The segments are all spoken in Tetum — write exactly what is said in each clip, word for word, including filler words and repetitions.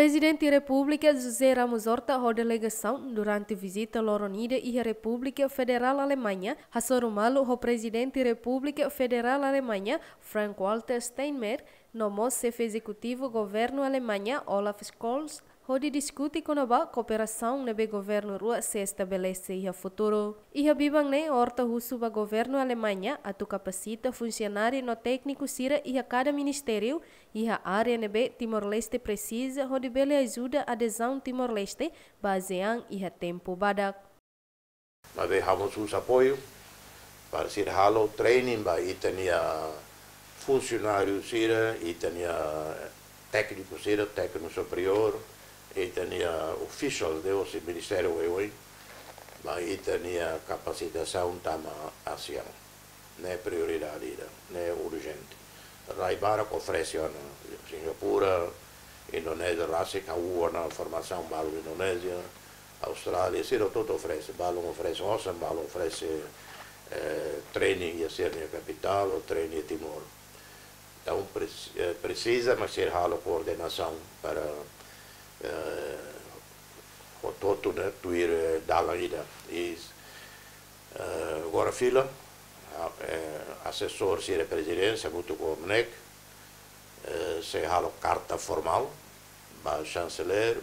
Prezidente Repúblika José Ramos Horta ho delegasaun durante vizita loron ida iha Repúblika Federál Alemaña, hasoru malu ho Prezidente Repúblika Federál Alemaña, Frank-Walter Steinmeier, no mós xefe ezekutivu governu Alemaña, Olaf Scholz, hodi diskute kona-ba kooperasaun ne'ebé governu rua sei estabelese iha futuru. Iha biban ne'e, Horta husu ba governu Alemaña atu kapasita funsionáriu no tékniku sira iha kada ministériu iha área ne'ebé Timor-Leste presiza hodi bele ajuda adezaun Timor-Leste ba ASEAN iha tempu badak. Maibé ha'u mós husu apoiu para sira halo training ba ita-nia funsionáriu sira, ita-nia tékniku sira, tékniku superiór, ita-nia official de hosi ministériu oioin, ba ita-nia kapasitasaun tama ASEAN. Ne'e prioridade ida, ne'e urjente. Rai barak oferese ona, Singapura, Indonézia, rasik ha'u ona formasaun balu Indonézia, Austrália, sira hotu oferese, balu oferese osan, balu oferese, eh, training iha sira-nia kapitál, ou training iha Timor. Entaun, presi-, eh, presiza, mas sira halo koordenasaun para, eh, hotu-hotu, ne'e, tuir, eh, dalan ida. I, eh, agora fila, ah, eh, asesór sira Prezidénsia, hamutuk ho MNEK, eh, sei halo karta formál ba Chanceler,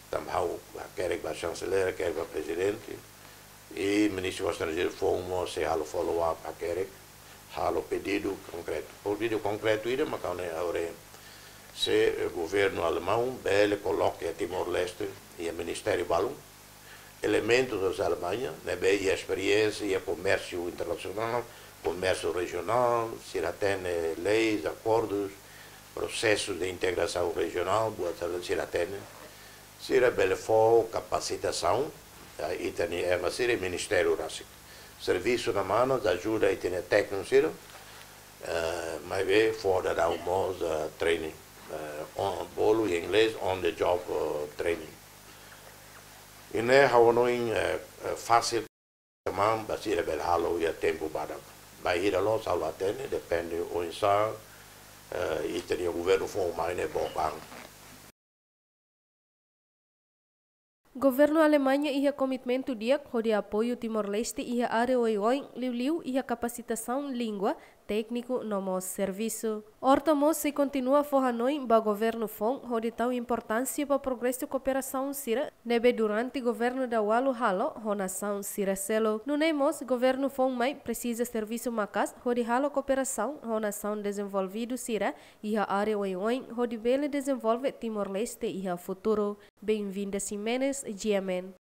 tanba ha'u hakerek ba Chanceler, hakerek ba Prezidente, i Ministru Estranjeiru foun mós sei halo follow up, hakerek, halo pedidu konkretu. Pedidu konkretu ida mak ha'u hanoin agora, se, eh, governu alemaun bele koloka Timor-Leste iha ministériu balu, elementus da Alemanha, ne'ebé iha esperiénsia iha komérsiu internasionál, komérsiu rejionál, sira hatene leis, akordus, prosesus de integrasaun rejionál, buat sira hatene. Sira bele fó kapasitasaun, ah, ita-nia ema sira, ministériu rasik. Servisu na manas, ajuda ita-nia tékniku sira, eh, maibé fó daudaun mós, eh, training, eh, on, bolu iha inglés, on the job, eh, training. I ne'e ha'u hanoin, eh, eh, fasil, maibé sira bele halo iha tempu badak. Bainhira loos ha'u la hatene, depende oinsá, eh, ita-nia governu foun mai ne'e book an. Governu Alemaña iha komitmentu di'ak hodi apoiu Timor-Leste iha área oioin, liuliu iha kapasitasaun língua, tékniku no mós servisu. Horta mós sei kontinua fó hanoin ba governu foun hodi tau importánsia ba progresu kooperasaun sira ne'ebé durante governu daudaun halo ho nasaun sira seluk. Nune'e mós governu foun mai presiza servisu maka'as hodi halo kooperasaun ho nasaun dezenvolvidu sira iha área oioin hodi bele dezenvolve Timor-Leste iha futuru. Benvinda Ximenes, G M N.